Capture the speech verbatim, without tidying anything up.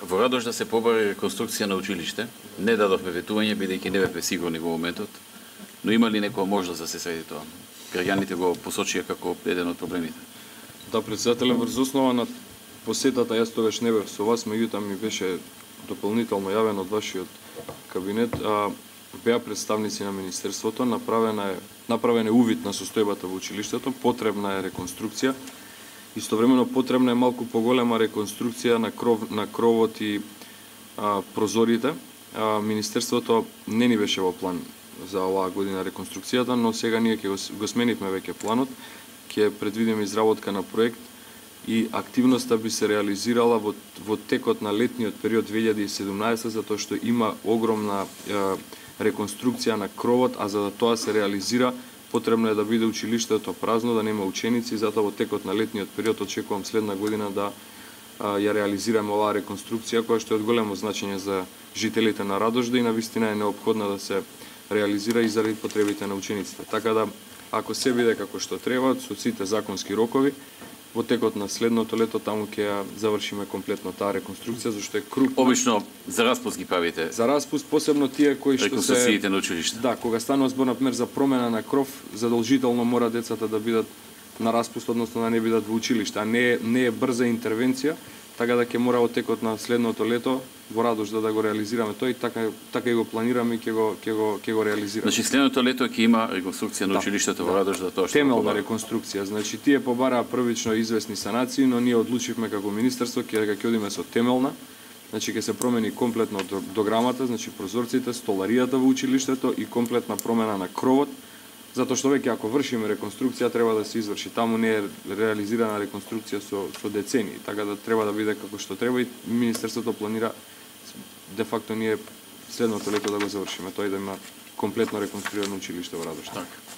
Во Радош да се побари реконструкција на училиште, не дадовме ветување бидејќи не бевме сигурни во моментот, но има ли некоја можност да се среди тоа? Граѓаните го посочија како еден од проблемите. Да, председателе, врз основа на посетата, јас тогаш не бев со вас, меѓутоа ми беше дополнително јавен од вашиот кабинет, а, беа представници на Министерството, направена е, направен е увид на состојбата во училиштето, потребна е реконструкција, истовремено потребна е малку поголема реконструкција на, кров, на кровот и а, прозорите. А, Министерството не ни беше во план за оваа година реконструкцијата, но сега ние ќе го, го сменивме веќе планот, ќе предвидиме изработка на проект и активноста би се реализирала во, во текот на летниот период две илјади и седумнаесета, затоа што има огромна е, реконструкција на кровот, а за да тоа се реализира, потребно е да биде училиштето празно, да нема ученици, затоа во текот на летниот период очекувам следна година да а, ја реализираме оваа реконструкција, која што е од големо значење за жителите на Радожда и навистина е неопходна да се реализира и заради потребите на учениците. Така да, ако се биде како што треба, со сите законски рокови, во текот на следното лето таму ќе ја завршиме комплетно таа реконструкција, зашто е крупна. Обично за распуст ги правите. За распуст, посебно тие кои што се реконструкциите на училиште. Да, кога станува збор например за промена на кров, задолжително мора децата да бидат на распуст, односно да не бидат во училиште, а не е, не е брза интервенција, така да ќе мора во текот на следното лето во Радожда да го реализираме тој, и така така и го планираме и ќе го ќе го ќе го реализираме. Значи следното лето ќе има реконструкција на да, училиштето да. во Радожда, тоа што темелна реконструкција. Значи тие побараа првично известни санации, но ние одлучивме како министерство ќе ќе одиме со темелна. Значи ќе се промени комплетно дограмата, значи прозорците, столаријата во училиштето и комплетна промена на кровот, затоа што веќе ако вршиме реконструкција треба да се изврши. Таму не е реализирана реконструкција со со децении, така да треба да биде како што треба и министерството планира де факто ние следното лето да го завршиме, тој да има комплетно реконструирано училиште во Радош. Така.